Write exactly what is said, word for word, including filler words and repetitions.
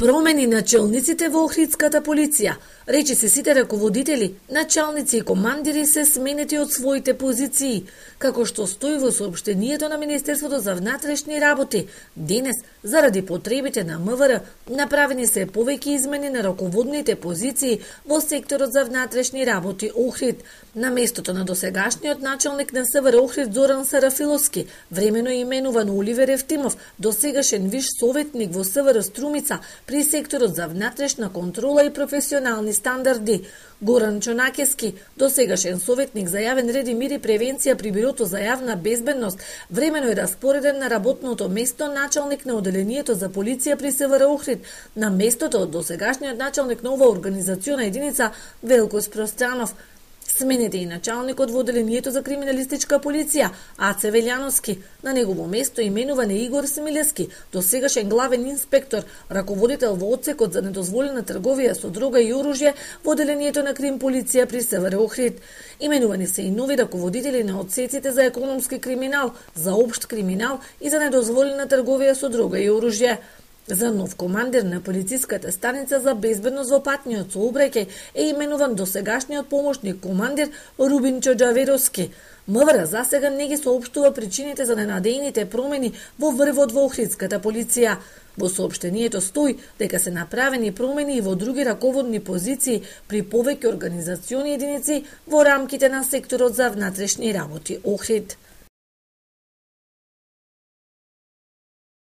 Промени на челниците во Охридската полиција. Речи се сите раководители, началници и командири се сменети од своите позиции, како што стои во соопштението на Министерството за внатрешни работи. Денес, заради потребите на МВР, направени се повеќе измени на раководните позиции во секторот за внатрешни работи Охрид. На местото на досегашниот началник на СВР Охрид Зоран Сарафиловски, времено именуван Оливер Евтимов, досегашен виш советник во СВР Струмица при секторот за внатрешна контрола и професионални стандарди. Горан Чонакески, досегашен советник за јавен ред и мир и превенција при Бирото за јавна безбедност, времено е распореден на работното место началник на оделението за полиција при СВР Охрид, на местото од досегашниот началник на оваа организациона единица Велко Спространов. Сменете и началникот во оделението за криминалистичка полиција, Аце Велјановски. На негово место именуван е Игор Смилевски, досегашен главен инспектор, раководител во одсекот за недозволена трговија со дрога и оружје во оделението на крим полиција при СВР Охрид. Именувани се и нови раководители на одсеците за економски криминал, за општ криминал и за недозволена трговија со дрога и оружје. За нов командир на полициската станица за безбедност во патниот сообраќај е именуван досегашниот помошник командир Рубин Чоџаверовски. МВР засега не ги соопштува причините за ненадејните промени во врвот во Охридската полиција. Во соопштението стои дека се направени промени и во други раководни позиции при повеќе организациони единици во рамките на секторот за внатрешни работи Охрид.